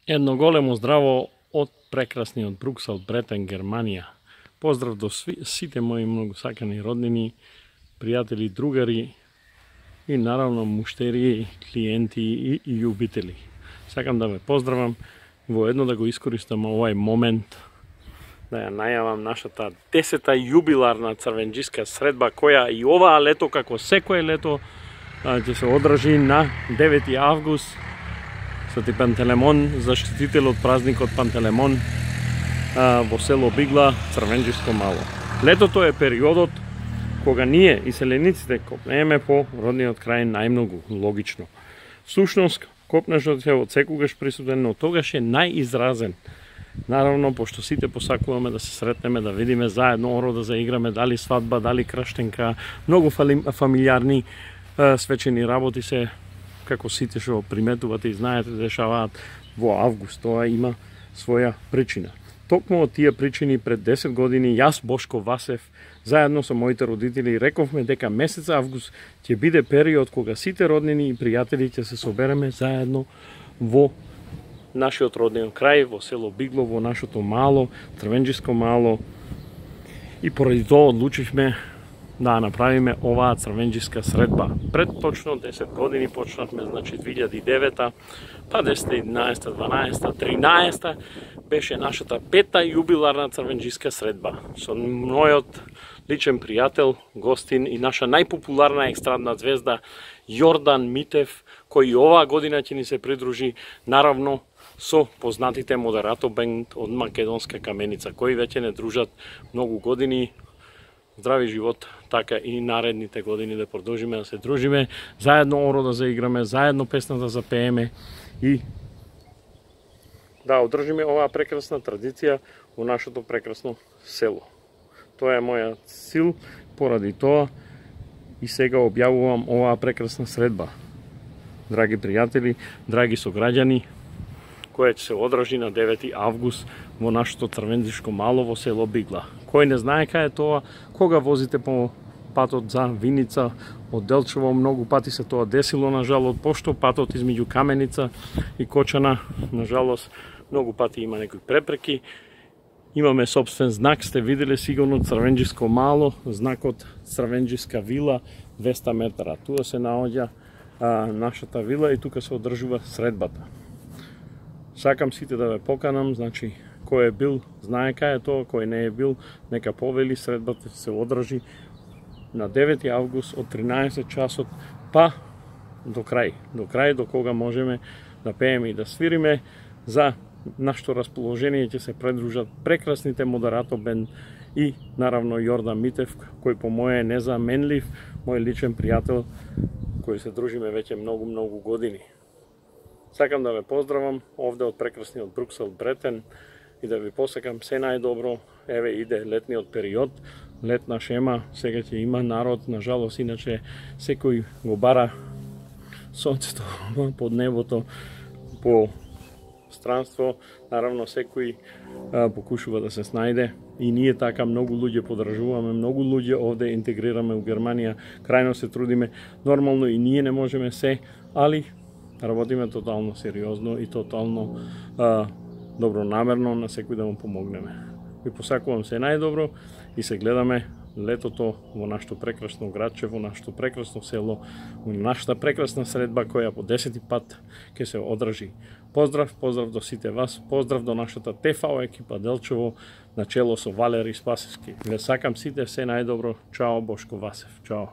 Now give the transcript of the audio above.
Едно големо здраво од прекрасниот Бруксел, Бретен, Германија. Поздрав до сите мои многу сакани роднини, пријатели, другари и наравно муштери, клиенти и љубители. Сакам да ве поздравам воедно да го искористам овај момент да ја најавам нашата 10-та јубиларна црвенџиска средба, која и оваа лето, како секое лето, ќе се одржи на 9 август. Свети Пантелеймон, заштитител од празникот Пантелеймон во село Бигла, Црвенџиско мало. Летото е периодот кога ние, иселениците, копнееме по родниот крај најмногу, логично. Сушност, копнежот е од секогаш присутен, но тогаш е најизразен. Наравно, пошто сите посакуваме да се сретнеме, да видиме заедно оро, да заиграме, дали свадба, дали краштенка, многу фамилиарни свечени работи се, како сите што приметувате и знаете, дешаваат во август. Тоа има своја причина. Токму од тие причини пред 10 години јас, Бошко Васев, заедно со моите родители рековме дека месец август ќе биде период кога сите роднини и пријатели ќе се собереме заедно во нашиот родниот крај, во село Бигло, во нашето мало, Црвенџиско мало. И поради тоа одлучивме да направиме оваа црвенџиска средба. Пред точно 10 години почнавме, значи 2009, па 10, 11, 12, 13 беше нашата 5-та јубиларна црвенџиска средба. Со мојот личен пријател, гостин и наша најпопуларна екстрадна звезда Јордан Митев, кој оваа година ќе ни се придружи, наравно со познатите модерато бенд од македонска Каменица, кои веќе не дружат многу години. Здрави живот, така и наредните години да продолжиме да се дружиме, заедно оро да заиграме, заедно песна да запееме и да одржиме оваа прекрасна традиција во нашето прекрасно село. Тоа е мојот цел, поради тоа и сега објавувам оваа прекрасна средба. Драги пријатели, драги сограѓани, која ќе се одржи на 9 август во нашето Црвенџиско мало во село Бигла. Кој не знае кај е тоа, кога возите по патот за Виница од Делчево, многу пати се тоа десило, на жалост, пошто патот измеѓу Каменица и Кочана, на жалост, многу пати има некои препреки. Имаме собствен знак, сте виделе сигурно Црвенџиско мало, знакот Црвенџиска вила, 200 метра. Туа се наоѓа нашата вила и тука се одржува средбата. Сакам сите да ве поканам, значи, кој е бил, знае кај е тоа, кој не е бил, нека повели, средбата се одржи на 9 август од 13 часот, па до крај, до кога можеме да пееме и да свириме. За нашето расположение ќе се придружат прекрасните модерато бенд и наравно Јордан Митев, кој по моје е незаменлив, мој личен пријател, кој се дружиме веќе многу години. Сакам да ве поздравам овде од прекрасниот Бруксел, Бретен, и да ви посакам се најдобро. Еве иде летниот период, летна шема, сега ќе има народ, на жалост, иначе секој го бара сонцето под небото по странство, наравно секој покушува да се снајде и ние така многу луѓе подржуваме, многу луѓе овде интегрираме у Германија, крајно се трудиме, нормално и ние не можеме се, али работиме тотално сериозно и тотално добронамерно на секој да му помогнеме. Ви посакувам се најдобро и се гледаме летото во нашето прекрасно градче, во нашето прекрасно село, во нашата прекрасна средба која по 10 пат ќе се одржи. Поздрав до сите вас, поздрав до нашата ТФО екипа Делчево на чело со Валери Спасевски. Ве сакам сите се најдобро. Чао, Бошко Васев. Чао.